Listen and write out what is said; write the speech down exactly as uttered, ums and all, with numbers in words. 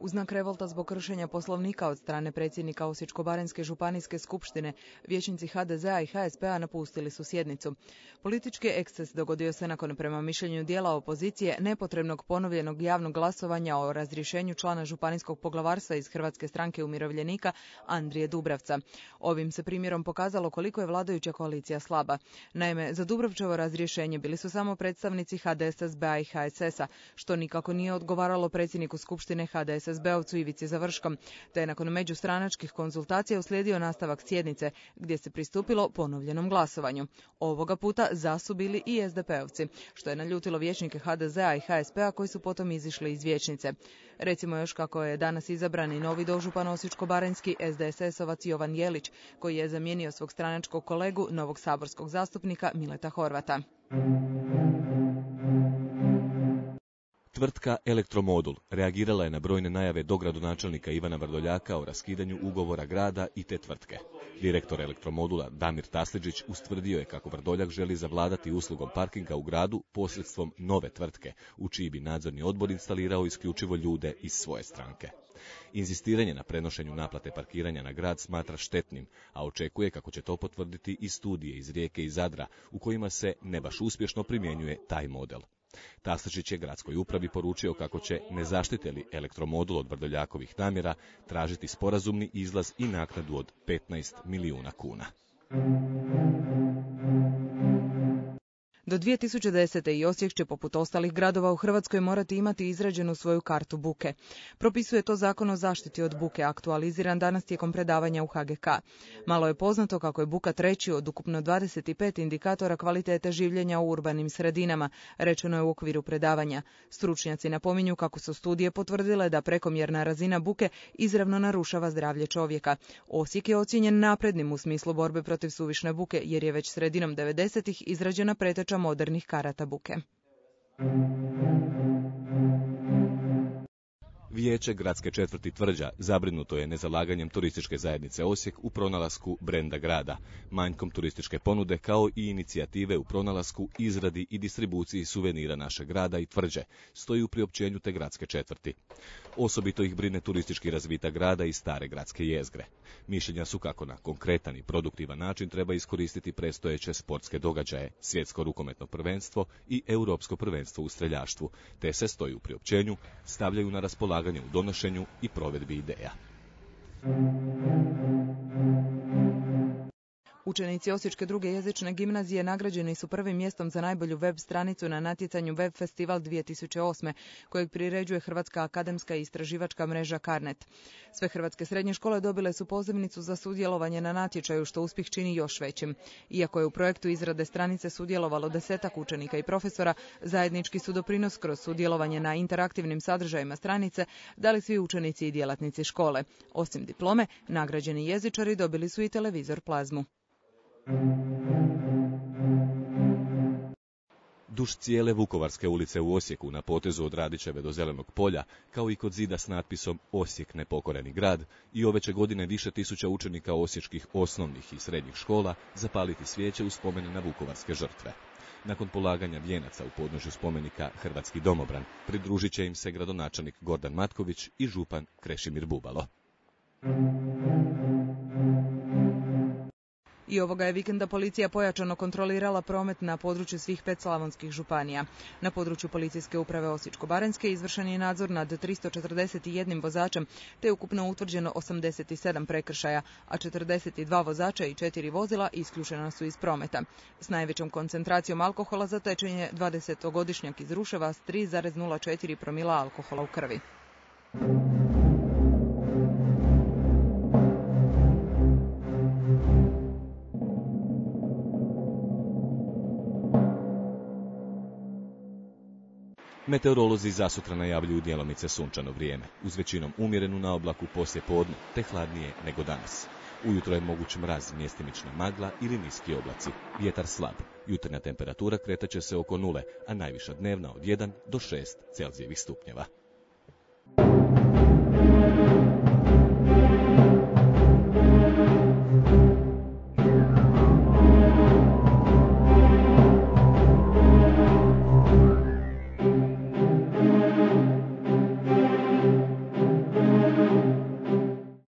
U znak revolta zbog kršenja poslovnika od strane predsjednika Osječko-baranjske županijske skupštine, vijećnici ha de zea i ha es pe a napustili su sjednicu. Politički eksces dogodio se nakon, prema mišljenju dijela opozicije, nepotrebnog ponovljenog javnog glasovanja o razrješenju člana županijskog poglavarstva iz Hrvatske stranke umirovljenika Andrije Dubravca. Ovim se primjerom pokazalo koliko je vladajuća koalicija slaba. Naime, za Dubravčevo razrješenje bili su samo predstavnici ha de es es be a i ha es es a, što nikako nije odgovaralo predsjedniku skupštine ha de es es be-ovcu Ivici Završkom, te je nakon međustranačkih konzultacija uslijedio nastavak sjednice, gdje se pristupilo ponovljenom glasovanju. Ovoga puta za su bili i es de pe-ovci, što je naljutilo vijećnike ha de zea i ha es pe a koji su potom izišli iz vijećnice. Recimo još kako je danas izabran i novi dožupan osječko-baranjski es de es es-ovac Jovan Jelić, koji je zamijenio svog stranačkog kolegu, novog saborskog zastupnika Mileta Horvata. Tvrtka Elektromodul reagirala je na brojne najave dogradonačelnika Ivana Vrdoljaka o raskidanju ugovora grada i te tvrtke. Direktor Elektromodula Damir Tasliđić ustvrdio je kako Vrdoljak želi zavladati uslugom parkinga u gradu posredstvom nove tvrtke, u čiji bi nadzorni odbor instalirao isključivo ljude iz svoje stranke. Inzistiranje na prenošenju naplate parkiranja na grad smatra štetnim, a očekuje kako će to potvrditi i studije iz Rijeke i Zadra, u kojima se ne baš uspješno primjenjuje taj model. Tasličić je gradskoj upravi poručio kako će, ne zaštite li Elektromodul od Vrdoljakovih namjera, tražiti sporazumni izlaz i naknadu od petnaest milijuna kuna. Do dvije tisuće desete. i Osijek će poput ostalih gradova u Hrvatskoj morati imati izrađenu svoju kartu buke. Propisuje to Zakon o zaštiti od buke, aktualiziran danas tijekom predavanja u ha ge ka. Malo je poznato kako je buka treći od ukupno dvadeset pet indikatora kvalitete življenja u urbanim sredinama, rečeno je u okviru predavanja. Stručnjaci napominju kako su studije potvrdile da prekomjerna razina buke izravno narušava zdravlje čovjeka. Osijek je ocijenjen naprednim u smislu borbe protiv suvišne buke, jer je već sredinom devedesetih izrađena preteča modernih karata buke. Vijeće gradske četvrti Tvrđa zabrinuto je nezalaganjem turističke zajednice Osijek u pronalasku brenda grada, manjkom turističke ponude kao i inicijative u pronalasku, izradi i distribuciji suvenira našeg grada i Tvrđe, stoji u priopćenju te gradske četvrti. Osobito ih brine turistički razvitak grada i stare gradske jezgre. Mišljenja su kako na konkretan i produktivan način treba iskoristiti predstojeće sportske događaje, svjetsko rukometno prvenstvo i europsko prvenstvo u streljaštvu, te se, stoji u priopćenju, stavljaju na raspolaganje u donošenju i provedbi ideja. Učenici Osječke druge jezične gimnazije nagrađeni su prvim mjestom za najbolju web stranicu na natjecanju Web Festival dvije tisuće osme, kojeg priređuje Hrvatska akademska i istraživačka mreža Carnet. Sve hrvatske srednje škole dobile su pozivnicu za sudjelovanje na natječaju, što uspjeh čini još većim. Iako je u projektu izrade stranice sudjelovalo desetak učenika i profesora, zajednički su doprinos kroz sudjelovanje na interaktivnim sadržajima stranice dali svi učenici i djelatnici škole. Osim diplome, nagrađeni jezičari dobili su i televizor Plazmu. Duž cijele Vukovarske ulice u Osijeku, na potezu od Radićeve do Zelenog polja, kao i kod zida s natpisom Osijek nepokoreni grad, i ove će godine više tisuća učenika osječkih osnovnih i srednjih škola zapaliti svijeće u spomen na vukovarske žrtve. Nakon polaganja vijenaca u podnožju spomenika Hrvatski domobran, pridružit će im se gradonačelnik Gordan Matković i župan Krešimir Bubalo. I ovoga je vikenda policija pojačano kontrolirala promet na području svih pet slavonskih županija. Na području policijske uprave Osječko-baranjske izvršen je nadzor nad tristo četrdeset jedan vozačem, te je ukupno utvrđeno osamdeset sedam prekršaja, a četrdeset dva vozača i četiri vozila isključena su iz prometa. S najvećom koncentracijom alkohola zatečen je dvadesetogodišnjak iz Ruševa s tri zarez nula četiri promila alkohola u krvi. Meteorolozi zasutra najavljuju djelomice sunčano vrijeme, uz većinom umjerenu na oblaku poslije podne, te hladnije nego danas. Ujutro je moguć mraz, mjestimična magla ili niski oblaci, vjetar slab. Jutarnja temperatura kretat će se oko nule, a najviša dnevna od jedan do šest Celzijevih stupnjeva.